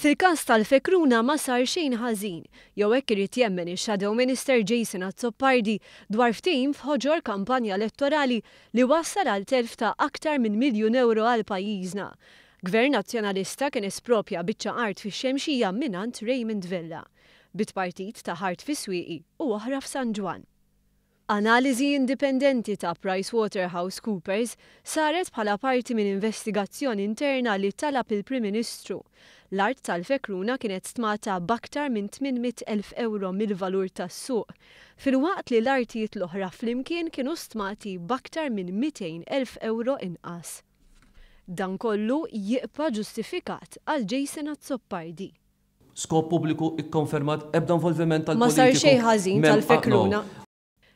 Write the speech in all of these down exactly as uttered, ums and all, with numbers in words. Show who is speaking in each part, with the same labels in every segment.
Speaker 1: Fil-każ tal-Fekruna ma sar xejn ħażin, jew hekk irid jemmen ix-Shadow Minister Jason Azzopardi dwar ftehim f'ħoġor kampanja elettorali li wassal għal telf ta' aktar minn miljun ewro għal pajjiżna. Gvern Nazzjonalista kien espropja biċċa art fix-Xemxija mingħand Raymond Vella. Bit-partit ta' art fis-Swieqi u oħra f'San Ġwann. Analiżi indipendenti ta' PricewaterhouseCoopers saret bħala parti minn investigazzjoni interna li talab il-Prim Ministru. L-art tal-Fekruna kienet stmata b'aktar minn tmien mitt elf ewro mill-valur tas-suq, filwaqt li l-artijiet l-oħra flimkien kienu stmati b'aktar minn mitejn elf ewro inqas. Dan kollu jibqa' ġustifikat għal Jason Azzopardi.
Speaker 2: Skop pubbliku ikkonfermat, ebda involviment
Speaker 1: Ma sar
Speaker 2: tal-politiku.
Speaker 1: xejn ħażin
Speaker 2: Mem-
Speaker 1: tal-Fekruna.
Speaker 2: ah, no.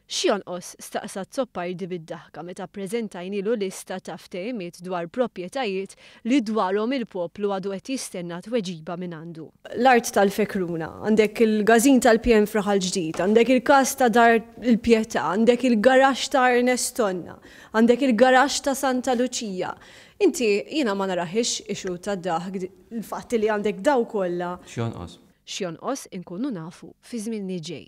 Speaker 1: X'jonqos, staqsa Azzopardi bid-daħka meta ppreżentajnilu lista ta' ftehimiet dwar proprjetajiet li dwarhom il-poplu għadu qed jistenna tweġiba minn għandu. L-art tal-Fekruna, għandek il-gazin tal-P N Fraħal Ġdid, għandek il-kas ta' Dar il-Pietà, għandek il-garaxx ta' Ernest Tonna, għandek il-garaxx ta' Santa Luċija. Inti jiena ma naraħix ixu ta' daħk il-fatt li għandek daw kollha.
Speaker 2: X'jonqos?
Speaker 1: X'jonqos inkunu nafu fi żmien li ġej.